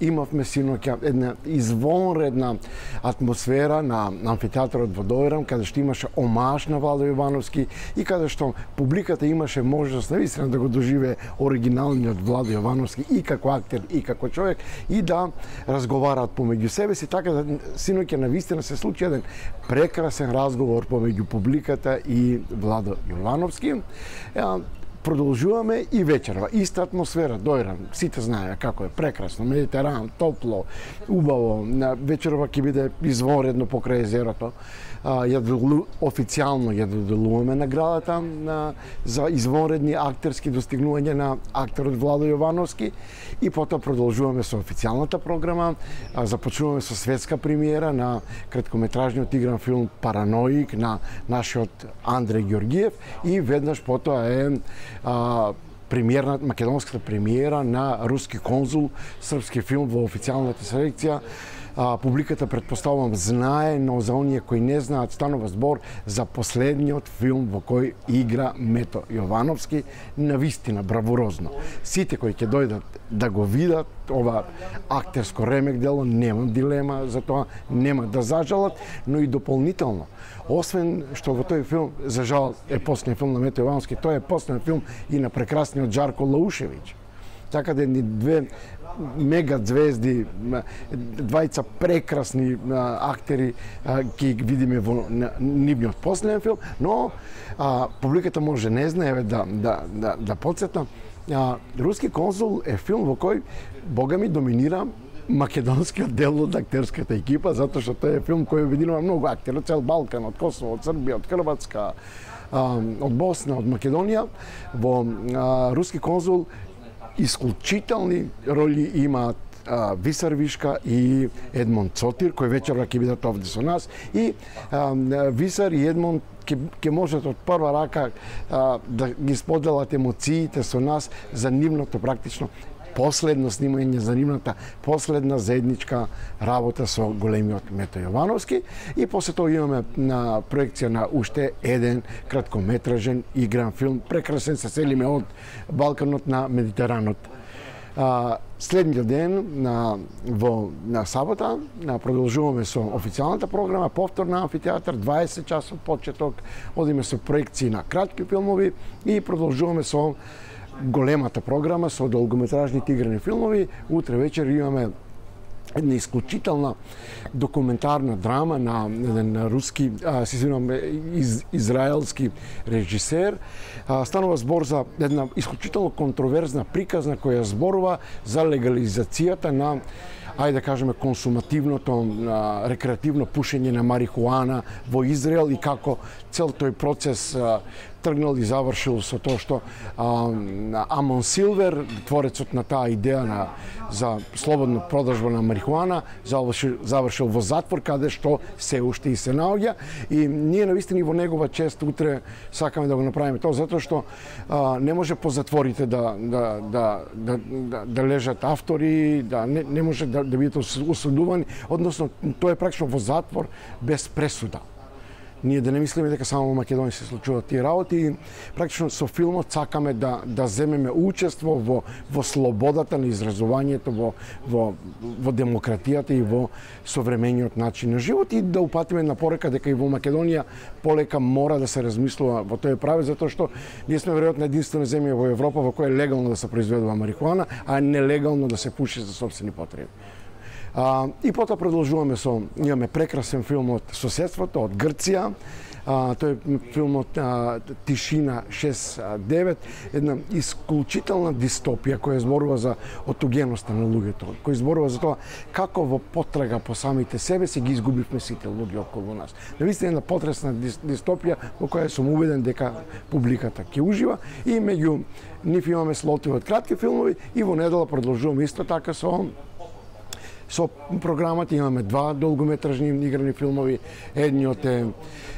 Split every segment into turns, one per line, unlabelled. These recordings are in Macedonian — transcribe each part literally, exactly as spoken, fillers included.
Имавме синоќа една извонредна атмосфера на, на амфитеатарот во Дојрам, каде што имаше омаж на Владо Јовановски и каде што публиката имаше можност навистина да го доживее оригиналниот Владо Јовановски и како актер и како човек и да разговараат помеѓу себе си, така да синоќа навистина се случи еден прекрасен разговор помеѓу публиката и Владо Јовановски. Продолжуваме и вечерва. Иста атмосфера, Дојрам, сите знаеме како е прекрасно, Медитеран, топло, убаво. Вечерва ќе биде извонредно покрај езерото. Ја официјално ја доделуваме наградата на, за извонредни актерски достигнувања на актерот Владо Јовановски и потоа продолжуваме со официјалната програма. Започнуваме со светска премиера на краткометражниот игран филм Параноик на нашиот Андреј Ѓоргиев и веднаш потоа е а, премиерна, македонската премиера на Руски конзул, српски филм во официјалната селекција. А, публиката, предпоставувам, знае, но за оние кои не знаат, станува збор за последниот филм во кој игра Мето Јовановски, навистина бравурозно. Сите кои ќе дојдат да го видат ова актерско ремек дело, немам дилема за тоа, нема да зажалат, но и дополнително. Освен што во тој филм, за жал, е последен филм на Мето Јовановски, тој е последен филм и на прекрасниот Жарко Лаушевиќ. Така да ни две мега звезди, двајца прекрасни актери ќе ги видиме во нивниот последен филм, но а, публиката може не знае да да да да потсетна. Руски конзул е филм во кој бога ми доминира македонскиот дел од актерската екипа, затоа што тој е филм кој обединува многу актери од цел Балкан, од Косово, од Србија, од Хрватска, од Босна, од Македонија. Во Руски конзул исклучителни роли имаат Висар Вишка и Едмон Цотир, кој вечерва ќе бидат овде со нас. И а, Висар и Едмон ќе, ќе можат од прва рака а, да ги споделат емоциите со нас за нивното практично последно снимање, за нивната последна заедничка работа со големиот Мето Јовановски. И после тоа имаме на проекција на уште еден краткометражен игран филм, прекрасен, се селиме од Балканот на Медитеранот. А, следниот ден на во на сабота на продолжуваме со официјалната програма, повтор на амфитеатар, дваесет часот почеток, одиме со проекции на кратки филмови и продолжуваме со големата програма со долгометражните играни филмови. Утре вечер имаме една исклучителна документарна драма на еден руски, а, се извинувам, из, израелски режисер. А, станува збор за една исклучително контроверзна приказна која зборува за легализацијата на, ајде да кажеме, консумативното, а, рекреативно пушење на марихуана во Израел и како цел тој процес а, тргнал и завршил со тоа што а, Амон Силвер, творецот на таа идеја на за слободна продажба на марихуана, завршил, завршил во затвор, каде што се уште и се наоѓа. И ние навистина и во негова чест утре сакаме да го направиме тоа, затоа што а, не може по затворите да да да да да, да лежат автори, да не, не може да, да бидат осудувани, односно тоа е практично во затвор без пресуда. Ние да не мислиме дека само во Македонија се случуваат тие работи и практично со филмот сакаме да да земеме учество во во слободата на изразувањето, во во во демократијата и во современиот начин на живот и да упатиме на порека дека и во Македонија полека мора да се размислува во тој прави, затоа што ние сме веројатно единствена земја во Европа во која е легално да се произведува марихуана, а нелегално да се пуши за сопствени потреби. А, и потоа продолжуваме со, имаме прекрасен филм од соседството, од Грција. А, тој е филмот а, Тишина шест девет, една исклучителна дистопија која зборува за отугеноста на луѓето, која зборува за тоа како во потрага по самите себе се ги изгубивме сите луѓе околу нас. Навистина една потресна дистопија во која сум убеден дека публиката ќе ужива и меѓу нив имаме слотови од кратки филмови и во недела продолжуваме исто така со Со програмата имаме два долгометражни играни филмови. Едниот е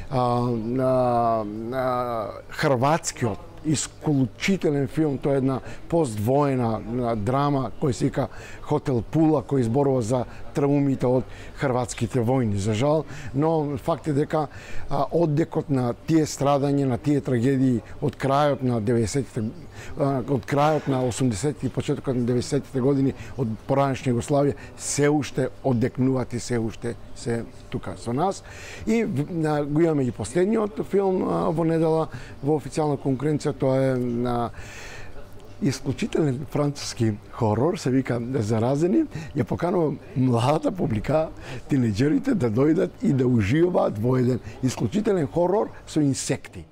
а, а, а, хрватскиот исклучителен филм, тоа е една поствоена драма кој се вика Хотел Пула, кој изборува за траумите од хрватските војни, за жал, но факт е дека а, оддекот на тие страдања, на тие трагедии од крајот на деветдесетите, од крајот на осумдесетите и почетокот на деветдесетите години од поранешна Југославија се уште оддекнуваат и се уште се тука со нас. И а, го имаме и последниот филм а, во недела во официјална конкуренција, тоа е на исклучителен француски хорор, се вика Заразени, ја поканува младата публика, тинеџерите да дојдат и да уживаат во еден исклучителен хорор со инсекти.